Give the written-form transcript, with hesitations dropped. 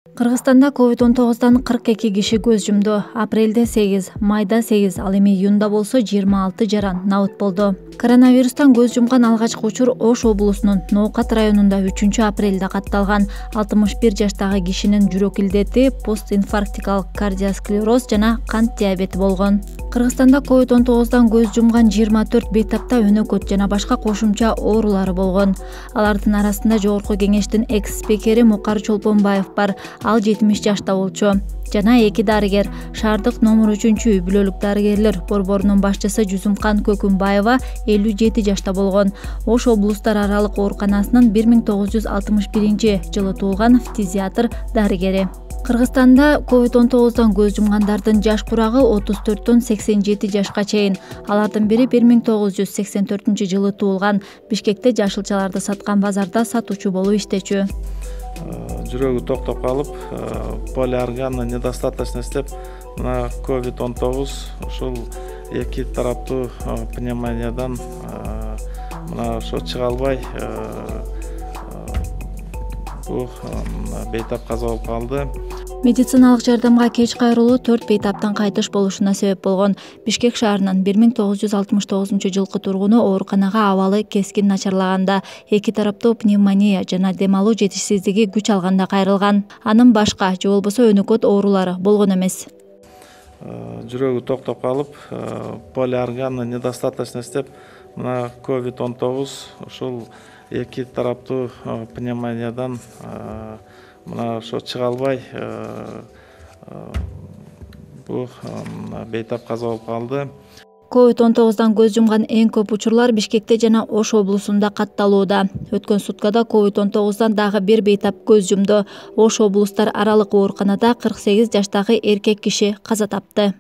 Кыргызстанда COVID-19 42 киши көз жумду. Апрелде 8, майда 8, ал эми июнда болсо 26 жаран набыт болду. Коронавирустан көз жумган алгачкы учур Ош облусунун Ноокат районунда 3-апрелде катталган. 61 жаштагы кишинин жүрөк илдети, постинфарктикалык кардиосклероз жана кант диабети болгон. Кыргызстанда COVID-19 көз жумган 24 бейтапта өнөкөт жана башка кошумча оорулары болгон. Алардын арасында Жогорку Кеңештин экс-спикери Мукар Чолпонбаев бар. Ал 70 жашта болчу. Жана 2 дарыгер, шаардык номер 3-үй бүлөлүк дарыгерлер борборунун башчысы Жусумкан Көкүмбаева 57 жашта болгон. Ош облустар аралык ооруканасынын 1961-жылы туулган фтизиатр дарыгери. Кыргызстанда COVID-19 көз жумгандардын жаш курагы 34-төн 87 жашка чейин. Алардын бири 1984-жылы туулган. Бишкекте жашылчаларды саткан базарда сатуучу болуп иштечү. Жүрөгү токтоп калып, полиорганный недостаточность деп мына COVID-19 ушул эки тараптуу пневмониядан мына ошо чыга албай бул бейтап каза болуп калды. Медициналык жардамга кеч кайрылуу 4 бейтаптан кайтыш болушуна себеп болгон. Бишкек шаарынын 1969-жылкы тургуну ооруканага абалы кескин начарлаганда, эки тараптуу пневмония жана дем алуу жетишсиздиги күч алганда кайрылган. Анын башка же болбосо өнөкөт оорулары болгон эмес. Жүрөгү токтоп калып, полиорганный недостаточность деп мына COVID-19 ушул эки тараптуу пневмониядан мына ошо чыга албай бул бейтап каза болуп калды. COVID-19 көз жумган эң көп учурлар Бишкекте жана Ош облусунда катталууда. Өткөн суткада COVID-19 дагы бир бейтап көз жумду. Ош облустар аралык ооруканада 48 жаштагы эркек киши каза тапты.